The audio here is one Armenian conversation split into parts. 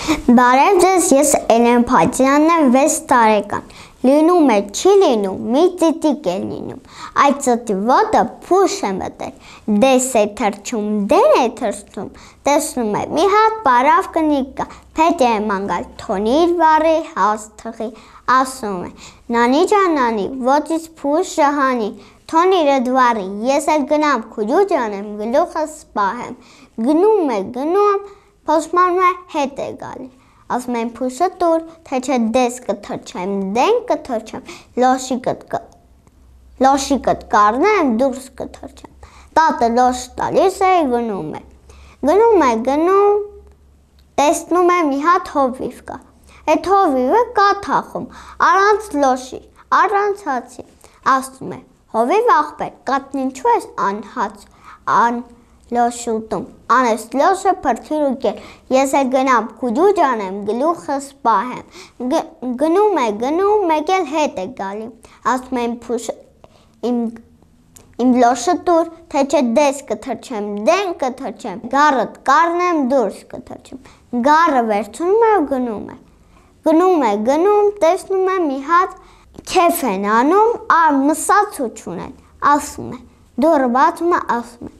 Բարև ձեզ, ես Էլեն Փաթյանն եմ, 6 տարեկան։ Լինում է, չի լինում, մի ծիտիկ է լինում։ Այդ ծտի ոտը փուշ է մտել, դես է թռչում, դեն է թռչում, տեսնում է, մի հատ պարավ կնիկ կա, փետ է մանգալ, թոնիր վարի, հաս թղի, ասում է, նանի ջան նանի, ոտից փուշ ժահանի, թոնիրը դվարի, ես էլ գնամ քուջու ջանեմ, գլուխս սպահեմ, գնում է, փոշմանում է հետ է գալի, ասում են փուշը տուր, թե չէ դես կթռչեմ, դեն կթռչեմ, լոշիկդ կառնեմ, դուրս կթռչեմ, տատը լոշ տալիս է, գնում, տեսնում է մի հատ հովիվ կա, այդ հովիվը կա թախում, առանց լոշի, առանց հացի, ասում է, հովիվ աղբեր, կատնին ինչու ես անհաց, լոշ ուտում, անես լոշը փրթիր ու կեր, ես էլ գնամ քուջու ջանեմ, գլուխը սպահեմ, գնում է, մեկ էլ հետ է գալի, ասում են փուշը, իմ լոշը տուր, թե չէ դես կթռչեմ, դեն կթռչեմ, գառդ կառնեմ, դուրս կթռչեմ, գառը վերցնում է ու գնում, տեսնում է մի հատ քեֆ են անում, մսած ու չունեն, ասում է, դուռը բացում է, ասում է,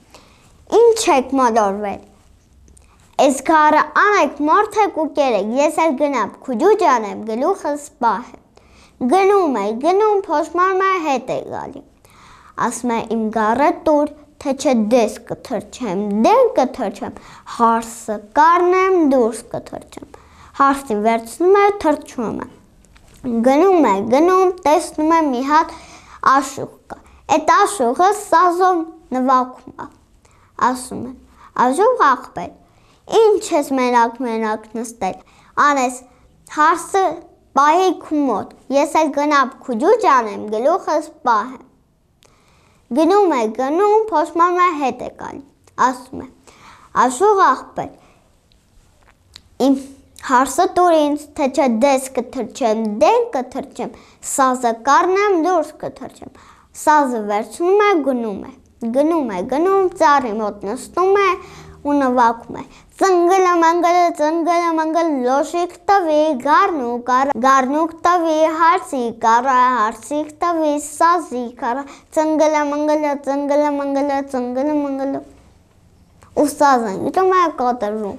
ինչ եք մոլորվել, ես գառը անեք մորթեք ու կերեք, ես էլ գնամ քուջու ջանեմ, գլուխը սպահեմ, գնում, փոշմանում է հետ է գալի, ասում է իմ գառը տուր, թե չէ դես կթռչեմ, դեն կթռչեմ, հարսը կառնեմ, դուրս կթռչեմ, հարսին վերցնում է, թռչում է, գնում, տեսնում է մի հատ աշուղ կա, այդ աշուղը սազով նվագում է, ասում են, աշուղ աղբեր, ինչ ես մենակ նստել, անես հարսը պահի քու մոտ, ես էլ գնամ քուջու ջանեմ, գլուխը սպահեմ, գնում, փոշմանում է հետ է գալի, ասում է, աշուղ աղբեր, իմ հարսը տուր ինձ, թե չէ դես կթռչեմ, դեն կթռչեմ, սազը կառնեմ, դուրս կթռչեմ, սազը վերցնում է, գնում, ծառի մոտ նստում է ու նվագում է, ծնգլը մանգլը, լոշիկ տվի, գառնուկ տվի, հարսի կառա, հարսիկ տվի, սազի կառա, ծնգլը մանգլը, ու սազը գիտում է կոտրում։